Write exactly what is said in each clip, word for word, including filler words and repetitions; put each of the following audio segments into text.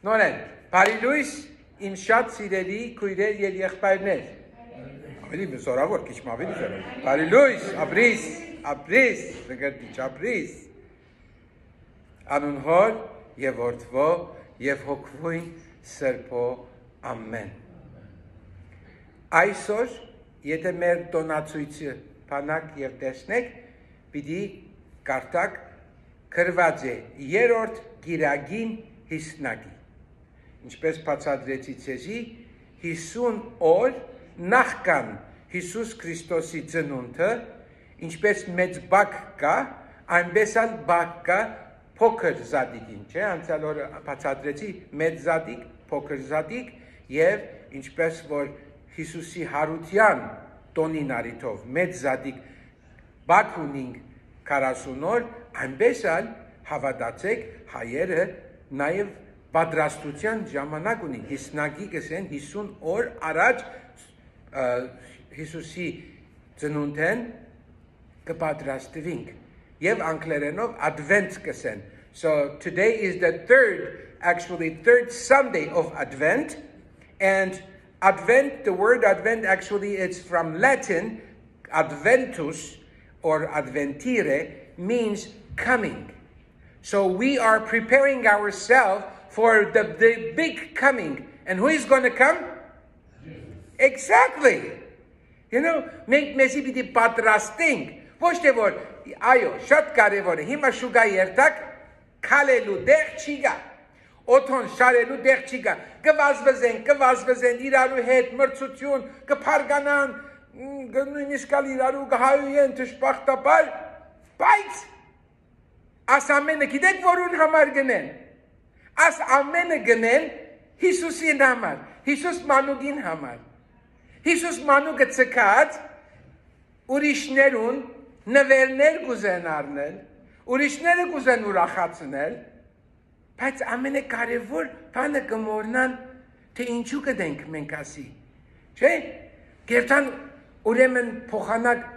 Նորեն, բարի լույս իմ շատ սիրելի քույրեր եւ եղբայրներ։ Ավելի զորավոր, քիչ ավելի զորավոր։ Բարի լույս, ապրիս, ապրիս, նկատի ապրիս։ Անուն Հոր եւ Որդվո եւ Հոգվույն Սրբո ամեն։ Այսօր, եթե մեր տոնացույցը բանակ եւ տեսնեք, պիտի կարդակ գրված է երրորդ գիրագին հիսնակի։ Ինչպես բացատրեցի ցեզի, հիսուն օր նախքան Հիսուս Քրիստոսի ծնունդը, ինչպես մեծ բակ կա, այնպես էլ բակ կա փոքր զադիկին, չէ՞, անցյալ օրը բացատրեցի մեծ զադիկ, փոքր զադիկ եւ ինչպես որ Հիսուսի հարության տոնին արիթով մեծ զադիկ բակ ունինք քառասուն օր, այնպես էլ հավատացեք հայերը նաեւ պատրաստության ժամանակ ունի հիսնակի գսեն հիսուն օր առաջ Հիսուսի ծնունդեն կպատրաստվենք եւ անգլերենով advent գսեն. So today is the third, actually third Sunday of Advent, and Advent, the word Advent actually it's from Latin, adventus or adventire means coming. So we are preparing ourselves for the, the big coming. And who is going to come? Exactly. You know, մենք մեզի պիտի պատրաստենք, ոչ թե որ, այո, շատ կարևոր է, հիմա շուգա երթակ, քալելու դեղ չի գա, օթոն շարելու դեղ չի գա, կվազվզեն, կվազվզեն, իրարու հետ մրցություն, կփարգանան, նույնիսկ ալ իրարու կհայույեն թշպախտապար, բայց աս ամենը գիտեք որուն համար գնեն, աս ամենը գնեն Հիսուսին համար, Հիսուս մանուկին համար, Հիսուս մանուկը ցկած ուրիշներուն նվերներ կուզեն առնել, ուրիշները կուզեն ուրախացնել, բայց ամենակարևոր բանը կմոռնան, թե ինչու կդենք մենք ասի, չէ՞, գերտան ուրեմն փոխանակ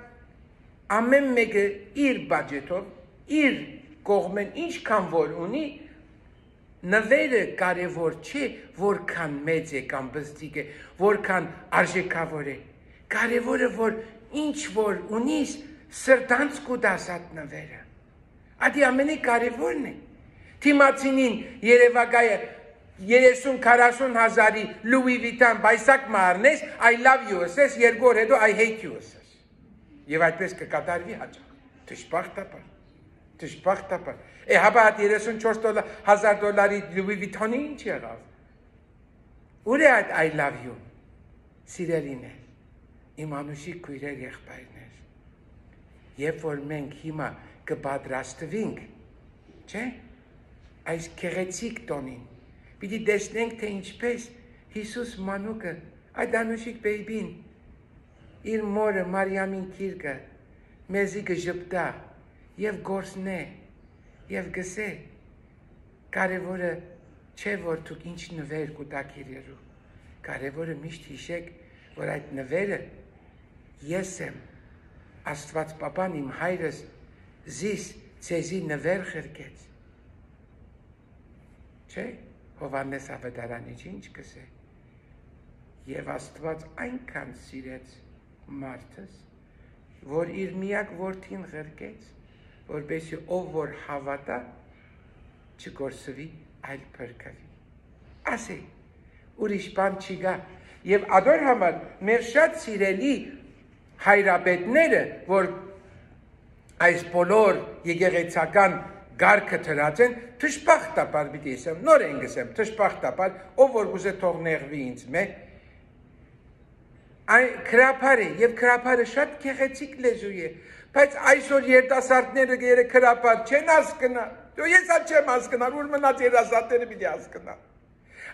ամեն մեկը իր բաջետով, իր կողմեն ինչքան որ ունի, նվերը կարևոր չէ, որքան մեծ է կամ բստիկ է, որքան արժեքավոր է, կարևորը որ ինչ որ ունիս, սրտանց կուտաս այդ նվերը, ադի ամենի կարևորն է, թիմացինին երևակայը երեսուն քառասուն հազարի Louis Vuitton բայսակ մարնես, I love you ասես, երկու օր հետո I hate you ասես, և այդպես կկատարվի հաճախ, թշպախտապար, թշպախտապար, է հապա այդ երեսուն չորս հազար դոլարի Louis Vuitton-ի ինչ եղավ, ուր է այդ I love you, սիրելին է, իմ անուշիկ քույրեր եղբայրներ, երբ որ մենք հիմա կպատրաստվենք, չէ, այս գեղեցիկ տոնին, պիտի տեսնենք, թե ինչպես Հիսուս մանուկը, այդ անուշիկ բեյբին, իր մորը Մարիամին քիրկը, մեզի կժպտա և գործնե, և գսե, կարևորը չէ, որ դուք ինչ նվեր կուտակ իրերու, կարևորը միշտ հիշեք, որ այդ նվերը ես եմ, Աստված պապան իմ հայրս զիս ցեզի նվեր խրկեց, չէ, Հովանես ավետարանի ինչ կսե, և Աստված այնքան սիրեց մարդս, որ իր միակ որդին խրկեց, որպեսզի ով որ հավատա, չկորսվի, այլ փրկվի, ասե, ուրիշ բան չի գա, և ադոր համար մեր շատ սիրելի հայրապետները, որ այս բոլոր եկեղեցական գարկը թրած են, թշպախտապար պիտի ասեմ, նոր են գսեմ, թշպախտապար, ով որ գուզե թող նեղվի ինձ մեկ, այն քրապար է, և քրապարը շատ գեղեցիկ լեզու է, բայց այսօր երիտասարդները գերը քրապար չեն հասկնալ, ես ալ չեմ հասկնալ, ուր մնաց երիտասարդները պիտի հասկնալ,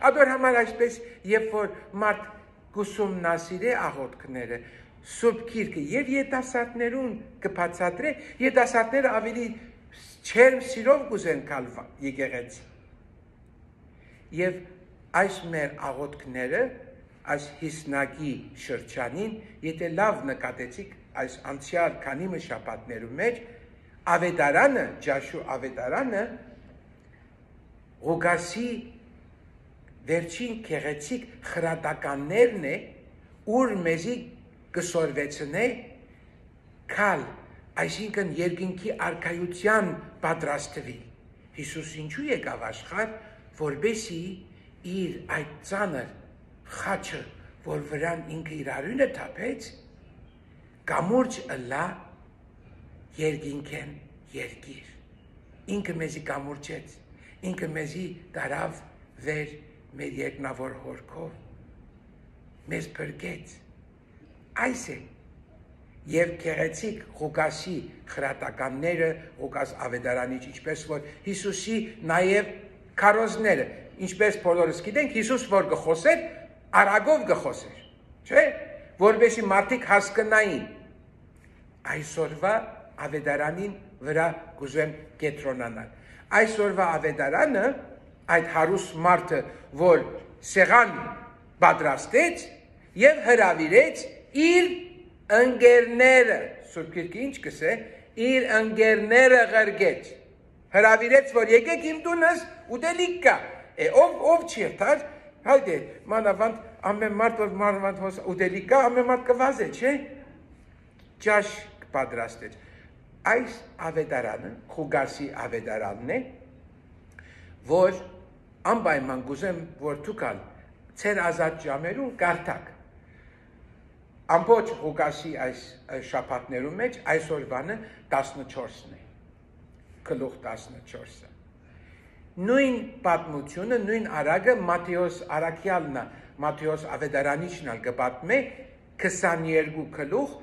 ադոր համար այսպես, երբ որ մարդ գուսումնասիր է աղոթքները, Սուրբ Գիրքը եւ երիտասարդներուն կբացատրե, երիտասարդները ավելի չերմ սիրով կուզեն գալ եկեղեցի։ Եվ այս մեր աղոթքները, այս հիսնակի շրջանին, եթե լավ նկատեցիք այս անցյալ քանի շաբաթներու մեջ, ավետարանը, Ջաշու ավետարանը, Ղուկասի վերջին քեղեցիկ խրատականներն է, ուր մեզի կսորվեցնե կալ, այսինքն երկինքի արքայության պատրաստվի։ Հիսուս ինչու եկավ աշխարհ, որբեսի իր այդ ծանր խաչը, որ վրան ինքը իր արյունը թափեց, կամուրջ ըլա երկինքեն երկիր։ Ինքը մեզի կամուրջեց, ինքը մեզի տարավ վեր մեր երկնավոր հորքով, մեզ փրկեց։ Այս է եւ քեղեցիկ Ղուկասի խրատականները, Ղուկաս ավետարանիչ, ինչպես որ Հիսուսի նաեւ քարոզները, ինչպես բոլորս գիտենք, Հիսուս որ գխոսեր, արագով գխոսեր, չէ՞, որովհետեւ մարդիկ հասկանային։ Այսօրվա ավետարանին վրա կուզեմ կետրոնանալ։ Այսօրվա ավետարանը այդ հարուստ մարդը, որ սեղան պատրաստեց եւ հրավիրեց իր ընկերները, Սուրբ Գիրքը ինչ կսե, իր ընկերները ղրգեց, հրավիրեց, որ եկեք իմ տունս ուտելիք կա, է ով ով չի երթար, հայդե, մանավանդ ամեն մարդ որ մանավանդ հոս ուտելիք կա, ամեն մարդ կվազե, չէ, ճաշ պատրաստեց։ Այս ավետարանը, Ղուկասի ավետարանն է, որ անպայման կուզեմ, որ դուքալ ծեր ազատ ժամերուն կարդաք։ Ամբողջ Ղուկասի այս շաբաթներում մեջ այսօրվանը տասնչորսն է, գլուխ տասնչորսը։ Նույն պատմությունը, նույն արագը Մատթեոս Արաքյալն է, Մատթեոս ավետարանիչն ալ կպատմե քսաներկու գլուխ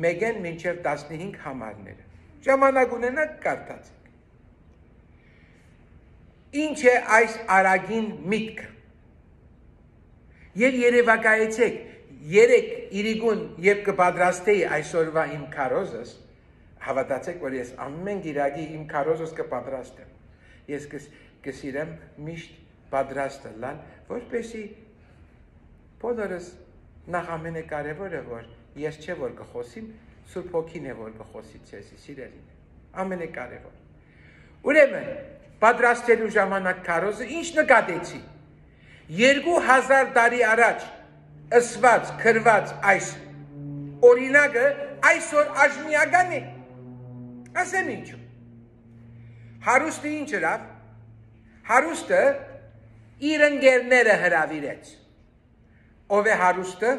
մեկեն մինչև տասնհինգ համարները։ Ժամանակ ունենաք կարդացեք։ Ինչ է այս արագին միտքը։ Եվ երևակայեցեք, երեք իրիգուն և կպատրաստեի այսօրվա իմ քարոզս, հավատացեք, որ ես ամեն գիրագի իմ քարոզս կպատրաստեմ։ Ես կսիրեմ միշտ պատրաստը լալ, որպեսի բոլորս նախ ամենակարևորը, որ ես չէ որ կխոսիմ, Սուրբ Հոգին է որ կխոսի ցեզի, սիրելին, ամենակարևոր։ Ուրեմն, պատրաստելու ժամանակ քարոզը ինչ նկատեցի։ Երկու հազար տարի առաջ ըսված, քրված այս օրինակը այսօր աժմիական է։ Ասեմ ինչու։ Հարուստը ինչ ըրավ։ Հարուստը իր ընկերները հրավիրեց։ Ով է հարուստը։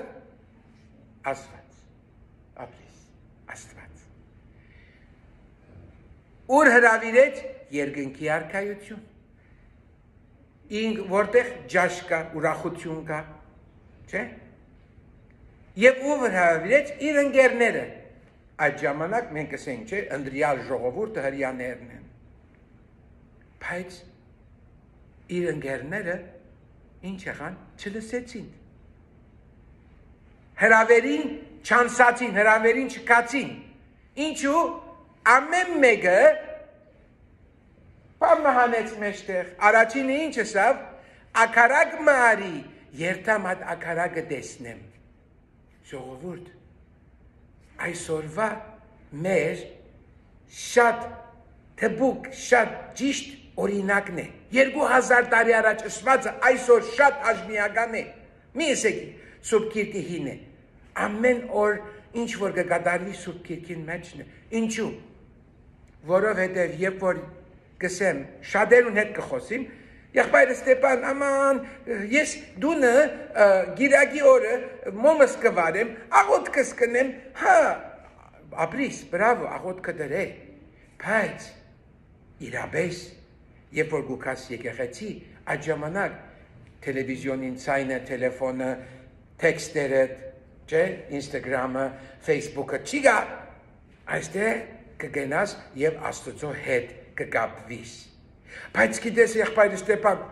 Աստված, ապրիս, Աստված։ Ուր հրավիրեց երկնքի արքայություն։ Ինք որտեղ ջաշ կա, ուրախություն կա, չէ՞։ Եվ ով հրավիրեց իր ընկերները։ Այդ ժամանակ մենք ասենք, չէ, ընտրյալ ժողովուրդը հրյաներն են։ Բայց իր ընկերները ինչ եղան, չլսեցին։ Հրավերին չանսացին, հրավերին չկացին։ Ինչու ամեն մեկը բամը հանեց մեջտեղ։ Առաջինը ինչ ասավ, ակարակ մարի, երթամ այդ ակարակը տեսնեմ։ Ժողովուրդ, այսօրվա մեր շատ թբուկ, շատ ճիշտ օրինակն է։ Երկու հազար տարի առաջ ասվածը այսօր շատ աժմիական է։ Մի եսեք Սուրբ Գիրքը հին է։ Ամեն օր ինչ որ կկատարվի Սուրբ Գիրքին մեջն է։ Ինչու։ Որովհետև երբ որ կսեմ շատերուն հետ կխոսիմ, եղբայրը Ստեփան, աման, ես դունը գիրագի օրը մոմս կվարեմ, աղոթքս կնեմ, հա, ապրիս, բրավո, աղոթքը դրե, բայց իրապես, երբ որ գուքաս եկեղեցի, այդ ժամանակ տելևիզիոնին ցայնը, տելեֆոնը, տեքստերը, չէ, Ինստագրամը, Ֆեյսբուքը չի գա, այստեղ կգնաս եւ Աստծո հետ կգապվիս։ Բայց գիտես եղբայրը Ստեփան,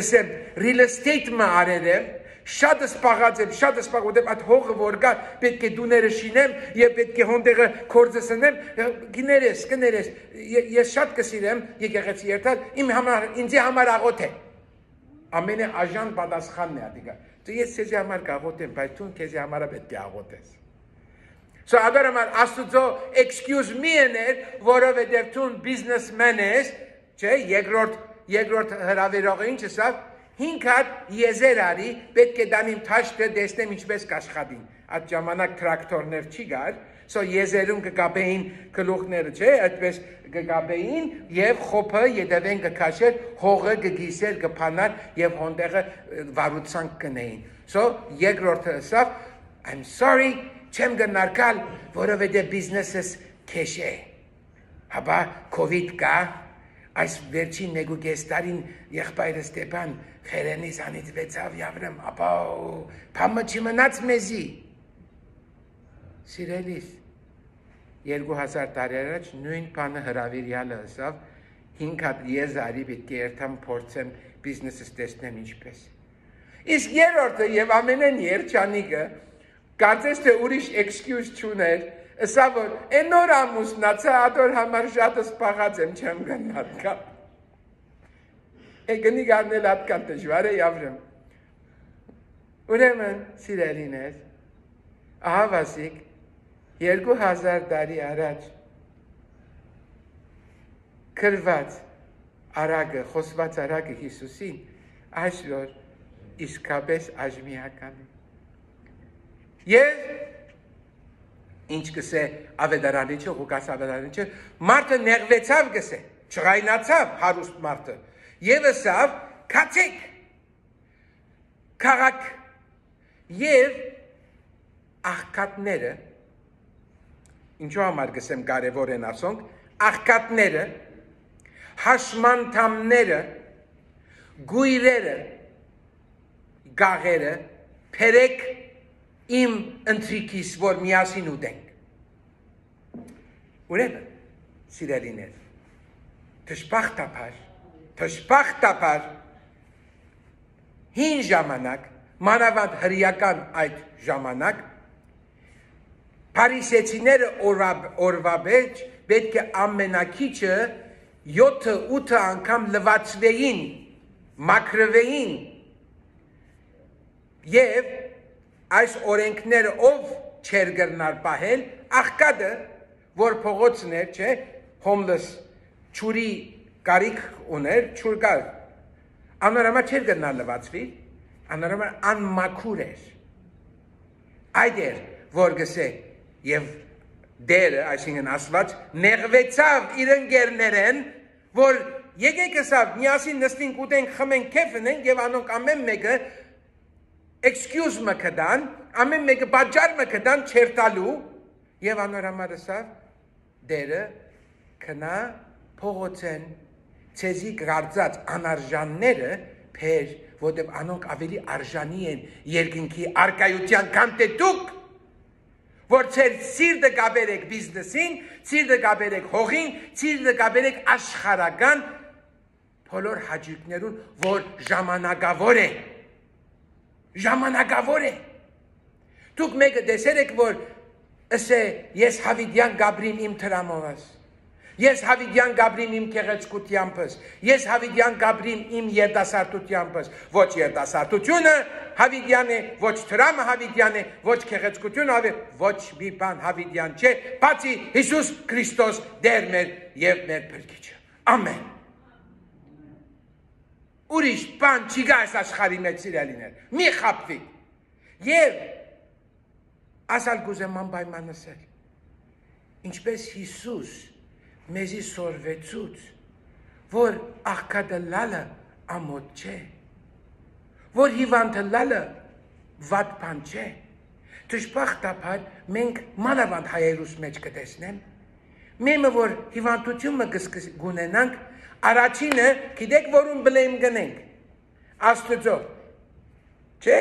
ասեմ, real estate-ը արել եմ, շատ սպաղած եմ, շատ սպաղ, այդ հողը որ կա, պետք է դուները շինեմ եւ պետք է հոնդեղը կորձս ընեմ, գներես, գներես, ես շատ կսիրեմ եկեղեցի երթալ, իմ համար, ինձի համար աղոթ է։ Ամենը աժան պատասխանն է ադիգա։ Ես քեզի համար կաղոթեմ, բայց դու քեզի համար պետք է աղոթես։ So agar amar Աստուծո excuse me ener, որովհետև դու businessman ես, չէ, երկրորդ երկրորդ հրավերողը ինչ ասավ, հինգ հատ եզեր արի, պետք է դանիմ թաշտը դեսնեմ ինչպես կաշխատին։ Այդ ժամանակ տրակտորներ չի գար, սո եզերում կգաբեին գլուխները, չէ, այդպես կգաբեին եւ խոփը յետևեն կքաշեր, հողը կգիսեր, կփանար եւ հոնդեղը վարուցանք կնեին։ Սո երկրորդը ասավ, I'm sorry, չեմ գնարկալ, որովհետեւ բիզնեսս քեշ է։ Հաբա COVID կա, այս վերջին մեկ ու կես տարին եղբայրը Ստեփան խերենից անիծվեցավ Յավրեմ, ապա փամը չմնաց մեզի։ Սիրելիս, երկու հազար տարի առաջ նույն բանը հրավիրյալը ասավ, հինգ հատ եզարի պետք է երթամ փորձեմ բիզնեսս տեսնեմ ինչպես։ Իսկ երրորդը եւ ամենեն երջանիկը, կարծես թե ուրիշ excuse չուներ, ասա որ այն նոր ամուսնացա, ադոր համար շատ սպաղած եմ, չեմ գնարկա։ Է գնի գարնել ատկան դժվար է Յավրեմ։ Ուրեմն, սիրելիներ, ահա վասիկ, երկու հազար տարի առաջ կրված արագը, խոսված արագը Հիսուսին, այսօր իսկապես աժմիական է։ Եվ ինչ կսե ավետարանիչը, Ղուկաս ավետարանիչը, մարդը նեղվեցավ կսե, չղայնացավ հարուստ մարդը, եւ ասավ, քացեք, քաղաք, եւ աղքատները, ինչու համար կսեմ կարևոր են ասոնք, աղքատները, հաշմանդամները, գույրերը, գաղերը, փերեք իմ ընտրիկիս, որ միասին ուտենք։ Ուրեմն, սիրելիներ, թշպախտապար, թշպախտապար, հին ժամանակ, մանավանդ հրեական այդ ժամանակ, փարիսեցիները օրվա մեջ պետք է ամենակիչը յոթը ութը անգամ լվացվեին, մաքրվեին եւ այս օրենքները ով չեր գրնար պահել, աղքատը, որ փողոցն էր, չէ, homeless, ճուրի կարիք ուներ, ճուր կար, անորամա չեր գրնար լվացվի, անորամա անմաքուր էր, այդ էր, որ գսե, եւ դերը, այսինքն ասված, նեղվեցավ իր ընկերներեն, որ եկեք ասավ, միասին նստենք ուտենք, խմենք, քեֆ ունենք եւ անոնք ամեն մեկը excuse մը կդան, ամեն մեկը բաժար մը կդան չերտալու եւ անորամար ասավ, դերը կնա փողոցեն ցեզի գարձած անարժանները փեր, որտեղ անոնք ավելի արժանի են երկնքի արկայության քան թե դուք, որ ցեր սիրտը գաբերեք բիզնեսին, սիրտը գաբերեք հողին, սիրտը գաբերեք աշխարհական բոլոր հաճույքներուն, որ ժամանակավոր է, ժամանակավոր է։ Դուք մեկը տեսել եք, որ ասե ես հավիդյան գաբրիմ իմ տրամովս, ես հավիդյան գաբրիմ իմ կեղեցկությանպես, ես հավիդյան գաբրիմ իմ երդասարտությանպես, ոչ երդասարտությունը հավիդյան է, ոչ տրամը հավիդյան է, ոչ կեղեցկությունը, ոչ մի բան հավիդյան չէ, բացի Հիսուս Քրիստոս դեր մեր եւ մեր փրկիչը։ Ամեն։ Ուրիշ բան չի գա այս աշխարհի մեջ սիրելիներ, մի խաբվի։ Եվ ասալ կուզեմ անպայման ասել, ինչպես Հիսուս մեզի սորվեցուց, որ աղքատը լալը ամոթ չէ, որ հիվանդը լալը վատ բան չէ, թշպախտապար մենք մանավանդ հայերուս մեջ կտեսնեմ, մեմը որ հիվանդությունը գունենանք, առաջինը գիտեք որում բլեմ գնենք, Աստծո, չէ,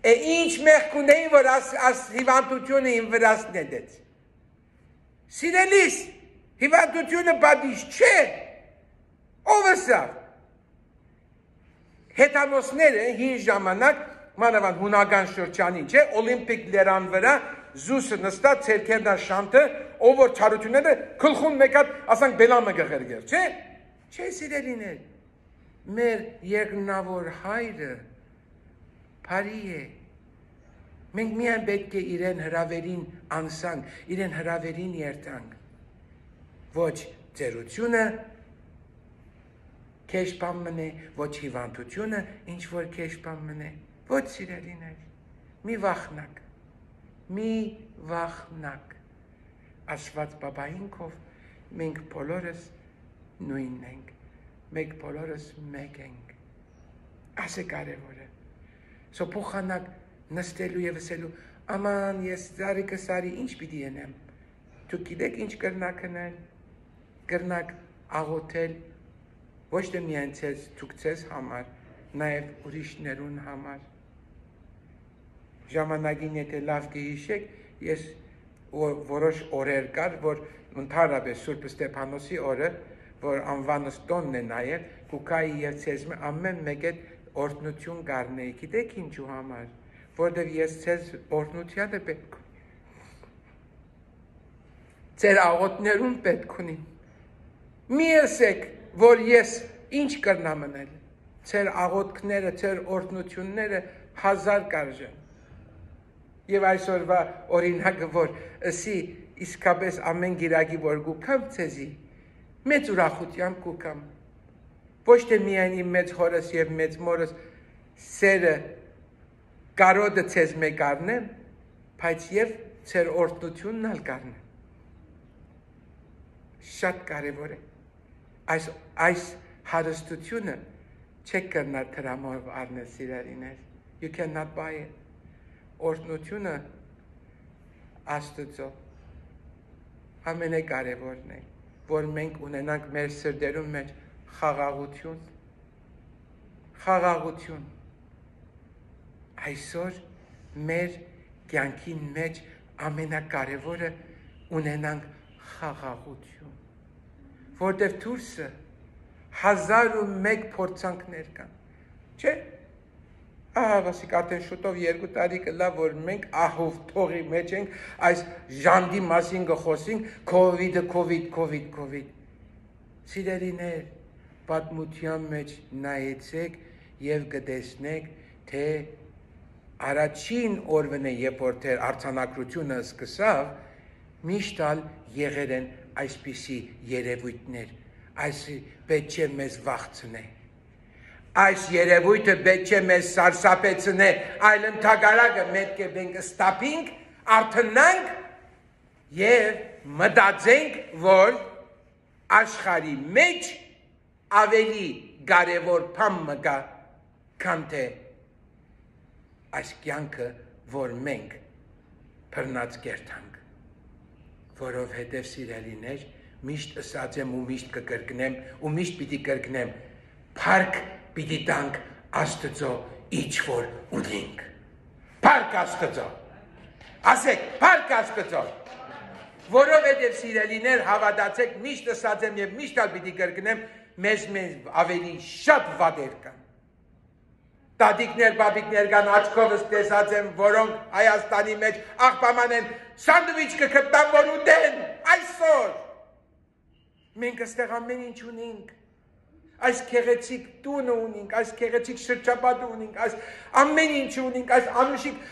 է ինչ մեղք ունեին, որ աս հիվանդությունը իմ վրաս նետեց, սիրելիս, հիվանդությունը բադիշ չէ, ով ասավ, հետանոսները հին ժամանակ, մանավանդ հունական շրջանին, չէ, օլիմպիկ լերան վրա, զուսը նստած ցերքերնա շանտը, ով որ չարությունները քլխուն մեկատ, ասանք բելամը գղերգեր, չէ, չէ սիրելիներ, մեր երկնավոր հայրը բարի է, մենք միայն պետք է իրեն հրավերին անսանք, իրեն հրավերին երթանք, ոչ ձերությունը, քեզ բան մնե, ոչ հիվանդությունը, ինչ որ քեզ բան մնե, ոչ սիրելիներ, մի վախնակ, մի վախնակ, Աստված բաբայինքով մենք բոլորս նույնն ենք, մենք բոլորս մեկ ենք, այս է կարևորը, սո փոխանակ նստելու և ասելու, աման ես զարիկը սարի ինչ պիտի ենեմ, դուք գիտեք ինչ կրնակ հնել, կրնակ աղոթել, ոչ թե միայն ձեզ, դուք ձեզ համար, նաև ուրիշներուն համար, ժամանակին եթե լավ կհիշեք, ես որոշ օրեր կար, որ ընդհանրապես Սուրբ Ստեփանոսի օրը, որ անվանս տոնն է նաև, կուքայի և ձեզ ամեն մեկ այդ օրհնություն գարնեի, գիտեք ինչու համար, որտև ես ձեզ օրհնությանը պետք ունիմ, ձեր աղոթներուն պետք ունիմ, մի ասեք, որ ես ինչ կրնամ մնել, ձեր աղոթքները, ձեր օրհնությունները հազար կարժեն, և այսօրվա օրինակը, որ ասի իսկապես ամեն գիրակի, որ գուկամ ձեզի, մեծ ուրախությամբ գուկամ, ոչ թե միայն իմ մեծ հորս և մեծ մորս սերը կարոդը ձեզ մեկ արնեմ, բայց և ձեր օրհնությունն ալ կարնեմ, շատ կարևոր է, այս, այս հարստությունը չեք կրնար տրամով արնել սիրելիներ, you cannot buy it, օրհնությունը Աստծո ամենակարևորն է, որ մենք ունենանք մեր սրտերում մեջ խաղաղություն, խաղաղություն, այսօր մեր կյանքի մեջ ամենակարևորը ունենանք խաղաղություն, որտև դուրսը հազար ու մեկ փորձանքներ կան, չէ, ահա վասիկ արդեն շուտով երկու տարի կլա, որ մենք ահով թողի մեջ ենք, այս ժանդի մասին գխոսինք, կովիդը, կովիդ, կովիդ, կովիդ, սիրելիներ, պատմության մեջ նայեցեք և գտեսնեք, թե առաջին օրվն է, երբ որ թե արձանագրությունը սկսավ, միշտ ալ եղել են այսպիսի երևույթներ, այս պետք չէ մեզ վախցնե, այս երևույթը պետք չէ մեզ սարսափեցնե, այլ ընդհակառակը պետք է մենք ստապինք, արթնանք և մտածենք, որ աշխարհի մեջ ավելի կարևոր բան մգա, քան թե այս կյանքը, որ մենք բռնած կերտանք, որովհետև սիրելիներ, միշտ ասած եմ ու միշտ կկրկնեմ ու միշտ պիտի կրկնեմ, փառք պիտի տանք Աստծո ինչ որ ունենք, փառք Աստծո, ասեք փառք Աստծո, որովհետև սիրելիներ հավատացեք, միշտ ասած եմ և միշտ ալ պիտի կրկնեմ, մեզ մեզ ավելի շատ վատեր կան, տատիկներ, բաբիկներ կան, աչքովս տեսած եմ, որոնք Հայաստանի մեջ աղբաման են, սանդվիչ կգտնան, որ ուտեն, այսօր, մենք այստեղ ամեն ինչ ունենք, այս գեղեցիկ տունը ունենք, այս գեղեցիկ շրջապատը ունենք, այս ամեն ինչ ունենք, այս անուշիկ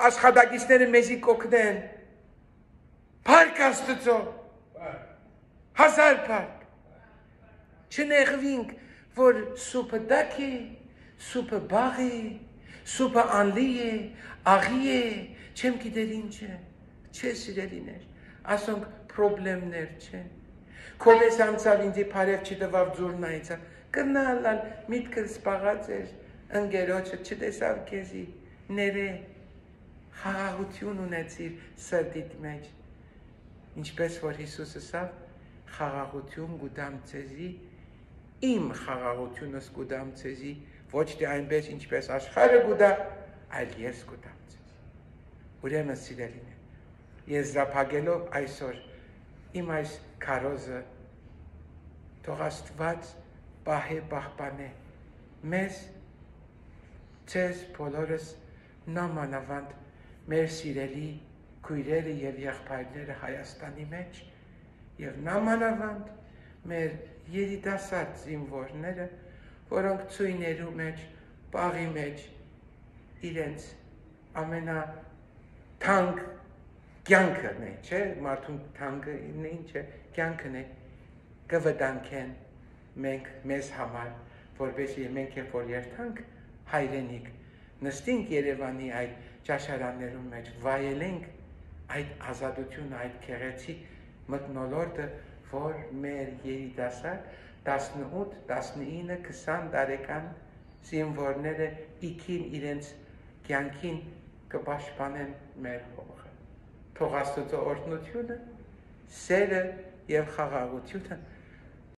աշխատակիցները մեզի կօգնեն, փառք Աստծո, հազար փառք, չնեղվինք, որ սուպը դակ է, սուպը բաղ է, սուպը անլի է, աղի է, չեմ գիտեր ինչ է, չէ սիրելիներ, ասոնք պրոբլեմներ չեն, քովես անցավ ինձի բարև չտվավ ձուրն այցավ, կնալալ միտքը սպաղած էր, ընգերոջը չտեսավ քեզի, ները խաղաղություն ունեցիր սրտիդ մեջ, ինչպես որ Հիսուս ասավ, խաղաղություն գուտամ ձեզի, իմ խաղաղությունս գուտամ ձեզի, ոչ թե այնպես ինչպես աշխարհը գուտա, այլ ես գուտամ ձեզի, ուրեմն սիրելին է, եզրափակելով այսօր, իմ այս քարոզը թող Աստված պահե պահպանե մեզ ձեզ բոլորս նամանավանդ մեր սիրելի քույրերը և եղբայրները Հայաստանի մեջ և նամանավանդ մեր երիտասարդ զինվորները, որոնք ծույներու մեջ, պաղի մեջ իրենց ամենաթանկ կյանքն է, չէ, մարդուն թանկը ինչ է, կյանքն է, կվտանգեն մենք մեզ համար, որպեսզի մենք երբ որ երթանք հայրենիք, նստենք Երևանի այդ ճաշարաններում մեջ, վայելենք այդ ազատությունը, այդ գեղեցիկ մթնոլորտը, որ մեր երիտասարդ տասնութ, տասնինը, քսան տարեկան զինվորները իքին իրենց կյանքին կպաշտպանեն մեր հողը։ Թող Աստծո օրհնությունը, սերը եւ խաղաղությունը